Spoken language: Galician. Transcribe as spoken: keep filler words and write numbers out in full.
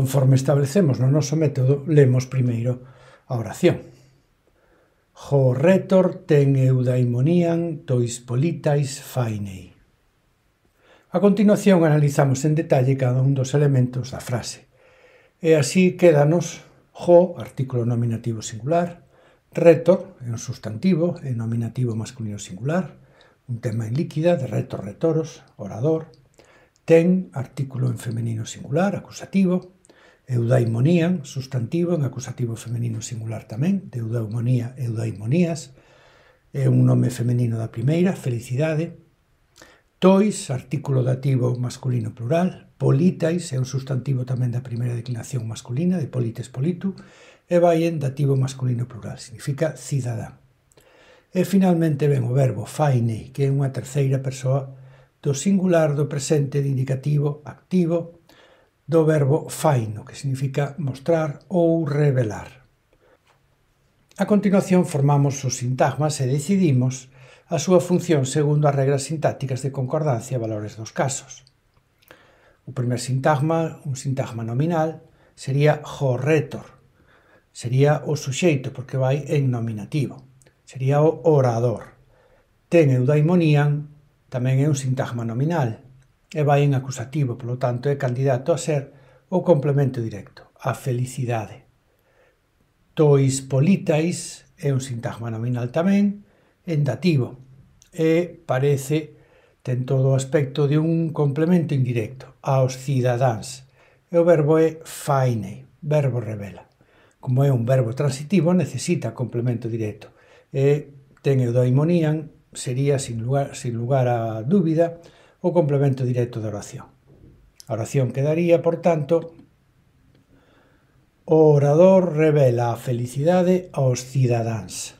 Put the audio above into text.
Conforme establecemos no noso método, lemos primeiro a oración. Ho rhetor ten eudaimonian tois politais fainei. A continuación analizamos en detalle cada un dos elementos da frase. E así quédanos ho, artículo nominativo singular, rhetor, é un substantivo, é nominativo masculino singular, un tema en líquida de rhetor, rhetoros, orador, ten, artículo en femenino singular, acusativo, eudaimonian, substantivo en acusativo femenino singular tamén, de eudaimonía, eudaimonías, é un nome femenino da primeira, felicidade, tois, artículo dativo masculino plural, politais, é un substantivo tamén da primeira declinación masculina, de polites politu, e vaien, dativo masculino plural, significa cidadán. E finalmente ven o verbo fainei, que é unha terceira persoa do singular do presente de indicativo activo do verbo faino, que significa mostrar ou revelar. A continuación formamos os sintagmas e decidimos a súa función segundo as regras sintácticas de concordancia e valores dos casos. O primer sintagma, un sintagma nominal, sería ho rhetor. Sería o suxeito, porque vai en nominativo. Sería o orador. Ten eudaimonian, tamén é un sintagma nominal, e vai en acusativo, polo tanto é candidato a ser o complemento directo, a felicidade. Tois politais é un sintagma nominal tamén, en dativo, e parece, ten todo o aspecto de un complemento indirecto, aos cidadáns, e o verbo é fainei, verbo revela. Como é un verbo transitivo, necesita complemento directo, e ten eudaimonian, sería, sin lugar, sin lugar a dúbida, o complemento directo da oración. A oración quedaría, por tanto, o orador revela a felicidade aos cidadáns.